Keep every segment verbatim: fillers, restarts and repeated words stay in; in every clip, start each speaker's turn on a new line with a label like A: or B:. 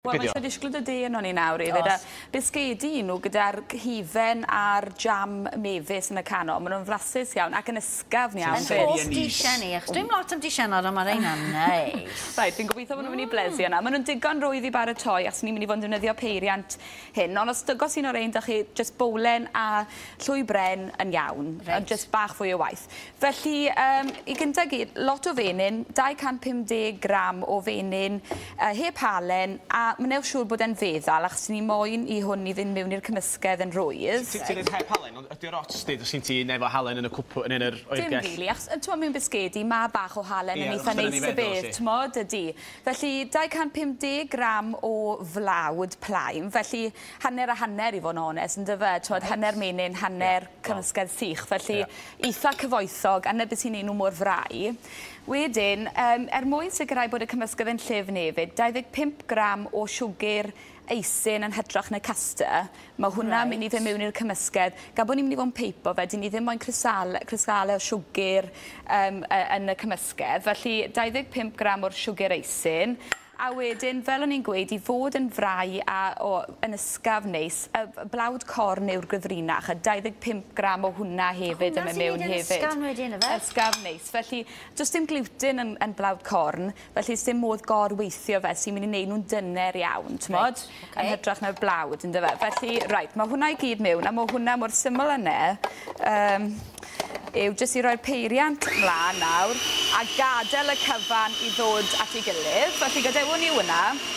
A: Wel, mae eisiau disgwyl dy de yno ni nawr hefyd. A bisgedi nhw gyda'r hufen a'r jam mefus yn y canol. Maen nhw'n flasus iawn ac yn ysgafn iawn.
B: Yn hoff disiau ni, achos dwi'n lot am disiau nawr, ond mae'r rheina'n neis.
A: Reit, fi'n gobeithio bod nhw'n mynd i blesio yna. Maen nhw'n digon rwydd i baratoi, achos ni'n mynd i fod yn defnyddio peiriant hyn. Ond os dygos un o'r ein, dach chi jyst bowlen a llwy bren yn iawn.
B: Reit.
A: Ond jyst bach fwy o waith. Felly, um, i gyntaf gyd, lot o fenyn, dau cant pum deg gram o fenyn, uh, heb halen, a wnewch siŵr bod e'n feddal, achos ni moyn i hwn i fynd mewn i'r cymysgedd yn rwydd.
C: Ti'n dweud heb halen, ond ydy'r ots di, os ti'n efo halen yn y cwpl, yn yr
A: Dim
C: oergell?
A: rili, achos t'mo' mewn bisgedi, mae bach o halen
C: Ie,
A: yn eitha
C: achos dyna
A: neis
C: ni'n
A: y
C: feddwl,
A: beth,
C: si.
A: t'mod, ydy. Felly, dau cant pum deg gram o flawd plaen, felly hanner a hanner i fod yn onest, yn dyfe, t'mod, hanner menyn, hanner
C: Ie,
A: cymysgedd sych, felly
C: Ie.
A: eitha cyfoethog, a 'na beth sy'n neud nhw mor frau. Wedyn, um, er mwyn sicrhau bod y cymysgedd yn llyfn hefyd, dau ddeg pump gram o siwgr eisin yn hytrach na custard. Mae hwnna'n
B: Reit.
A: mynd i fynd mewn i'r cymysgedd. Gan bod ni'n mynd i fod yn peipo fe, dyn ni ddim moyn cristale, cristale o siwgr um, yn y cymysgedd. Felly, dau ddeg pump gram o'r siwgr eisin. A wedyn, fel o'n i'n gweud, i fod yn frau a o, yn ysgafn neis, y blawd corn yw'r gyfrinach, a dau ddeg pump gram o hwnna hefyd
B: Hwnna
A: yn mynd
B: sy'n
A: mewn
B: neud yn
A: hefyd.
B: ysgafn wedyn, yfe?
A: Ysgafn neis. Felly, does dim gluten yn, yn blawd corn, felly dim modd gorweithio fe sy'n mynd i wneud nhw'n dyner iawn, t'mod?
B: Reit, ocê.
A: Yn hytrach na'r blawd, yndyfe? Felly, reit, mae hwnna i gyd mewn, a mae hwnna mor syml yna, um, yw jyst i roi'r peiriant mlaen nawr a gadael y cyfan i ddod at ei gilydd. Felly gadewon ni hwnna,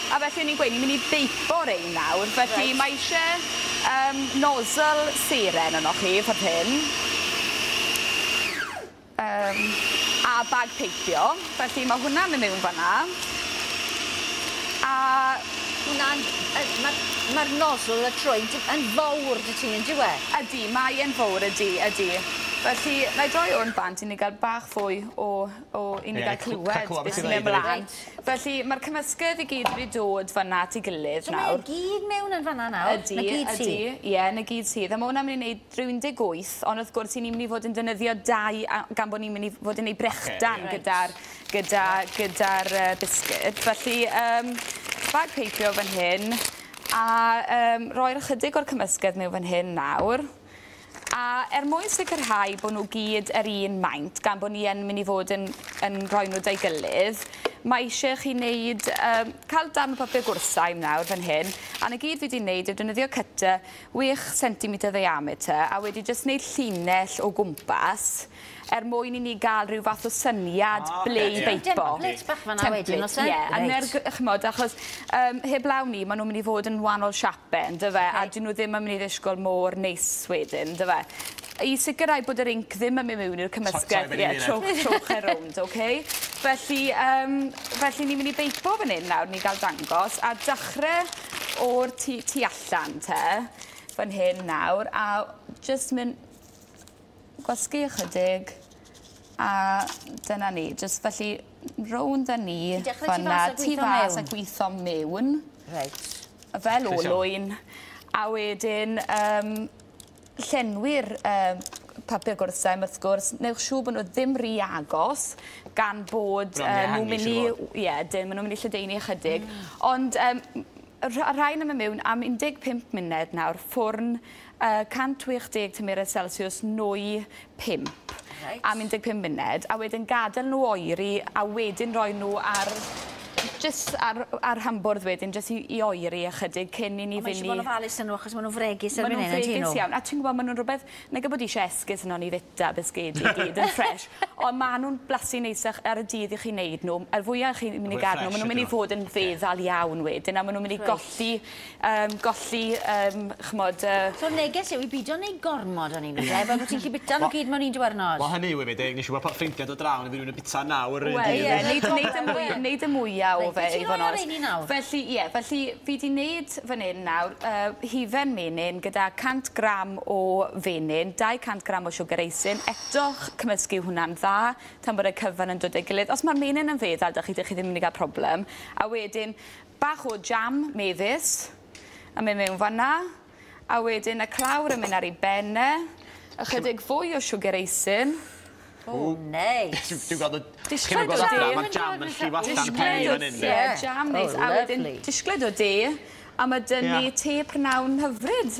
A: a felly o'n i'n gweud, ni'n mynd i beipo rein nawr. Felly
B: Reit.
A: mae eisiau um, nozzle seren yno chi, ffordd hyn. Um, a bag peipio. Felly mae hwnna'n mynd mewn fan'na. A
B: Hwnna'n... Mae'r ma nozzle y trwyn yn fawr dy ti, yn dyw e?
A: Ydy, mae e'n fawr, ydy, ydy. Felly, na i droi hwn bant i ni gael bach fwy o, o i ni
C: Ie,
A: gael
C: cl-
A: clywed
C: cael clywed
A: beth
C: beth
A: sy'n
C: sy'n
A: mynd
C: dweud,
A: ymlaen.
B: Reit.
A: Felly, mae'r cymysgedd i gyd wedi dod fan'na at ei gilydd
B: So mae
A: nawr.
B: e gyd mewn yn fan'na nawr?
A: Ydy,
B: Na gyd
A: ydy.
B: sydd?
A: Ie, na gyd sydd. A mae hwnna'n mynd i wneud rhyw un deg wyth, ond wrth gwrs, i ni'n mynd i fod yn defnyddio dau, a- gan bod ni'n mynd i fod yn ei brechdan
B: Ocê, ie.
A: gyda'r gyda, gyda'r uh, bisged. Felly, um, bag peipio fan hyn, a um, roi'r ychydig o'r cymysgedd mewn fan hyn nawr. A er mwyn sicrhau bod nhw gyd yr un maint, gan bod ni yn mynd i fod yn, yn rhoi nhw da'i gilydd, mae eisiau chi wneud, um, cael darn o papur gwrthsaim nawr fan hyn, a na gyd fi wedi wneud yw defnyddio cutter chwech centimetr diameter, a wedi jyst wneud llinell o gwmpas, er mwyn i ni gael rhyw fath o syniad
C: Ah,
A: ble i
C: ocê, ie.
A: beipo.
B: Template bach fan'na wedyn, oes e?
A: Ie, a
B: Reit.
A: ner, ch'mod, achos um, heblaw ni, maen nhw'n mynd i fod yn wahanol siapau, yndyfe, a dyn nhw ddim yn mynd i ddisgwyl mor neis wedyn, yndyfe. I sicrhau bod yr inc ddim yn mynd mewn i'r cymysgedd,
C: Sorry,
A: ie,
C: fyny
A: trowch, trowch e rownd, oce? Felly, um, felly ni'n mynd i beipo fan hyn nawr, ni gael dangos, a dechrau o'r tu, tu allan te, fan hyn nawr, a jyst mynd gwasgu ychydig, a dyna ni, jyst felly rownd â ni,
B: Ti'n dechrau tu
A: fan'na,
B: fas a
A: tu
B: gweithio
A: fas a
B: mewn?
A: gweithio mewn,
B: Reit.
A: fel
C: Croeso.
A: olwyn, a wedyn um, llenwi'r um, papur gwrthsaim wrth gwrs, newch siŵr bod nhw ddim rhy agos, gan bod
C: Bron i
A: uh, nhw'n
C: ehangu,
A: mynd i...
C: siŵr o fod.
A: Ie, dim, maen nhw'n mynd i lledaenu ychydig. Ond um, y rhain yn mynd mewn am un deg pump munud nawr, ffwrn uh, cant chwech deg tymheredd Celsius nwy pump.
B: Reit.
A: Am un deg pump munud, a wedyn gadael nhw oeri, a wedyn rhoi nhw ar jyst ar, ar hambwrdd wedyn, jyst i, i oeri ychydig cyn i ni
B: Mae
A: fynd
B: eisiau
A: i...
B: bod yn ofalus yn nhw, achos maen nhw'n fregus
A: Maen
B: erbyn
A: nhw'n
B: hyn, ydyn
A: fregus
B: nhw?
A: iawn. A ti'n gwybod, maen nhw'n rhywbeth... Nag bod eisiau esgus yno ni fita bisgedi i gyd yn ffres. Ond maen nhw'n blasu neisach ar y dydd i chi wneud nhw. A'r fwyaf chi'n mynd i
C: Fwy
A: gadw nhw, maen nhw'n mynd i
C: ydyn nhw.
A: fod yn feddal iawn wedyn. A maen nhw'n mynd i
B: Reit.
A: golli, um, golli, um, ch'mod... Uh,
B: So neges yw i bido neu gormod o'n i'n meddwl, fel bod ti'n gallu bita nhw gyd mewn un diwrnod.
C: Wel, hynny yw hefyd, nes i weld ffrindiau dod draw, neu fydd rhywun yn bita nawr yr un
A: Wel,
C: dydd.
A: ie, neud, neud y mwy, neud y mwyaf o
B: Reit,
A: fe,
B: wyt ti'n
A: i fod yn
B: rhoi ar
A: onest.
B: rheini nawr?
A: Felly, ie, felly fi di wneud fan hyn nawr, uh, hufen menyn gyda cant gram o fenyn, dau cant gram o siwgr eisin, eto cymysgu hwnna'n dda, tan bod y cyfan yn dod ei gilydd. Os mae'r menyn yn feddal, dych chi, dych chi ddim yn mynd i gael problem. A wedyn, bach o jam mefus, a mynd mewn fan'na. A wedyn y clawr yn mynd ar ei ben e, ychydig fwy o siwgr eisin.
B: O, neis.
C: Dwi'n gweld y...
A: Disgled
C: Chi'n gweld
A: o
C: adra,
A: de.
C: mae'r jam yn llif allan
A: Disgled
C: pen i
A: o
C: fan hyn.
A: te,
B: Ie.
A: jam neis.
B: Oh,
A: A wedyn
B: lovely.
A: disgled o de, a ma' 'dyn ni
C: Ie.
A: te prynawn hyfryd.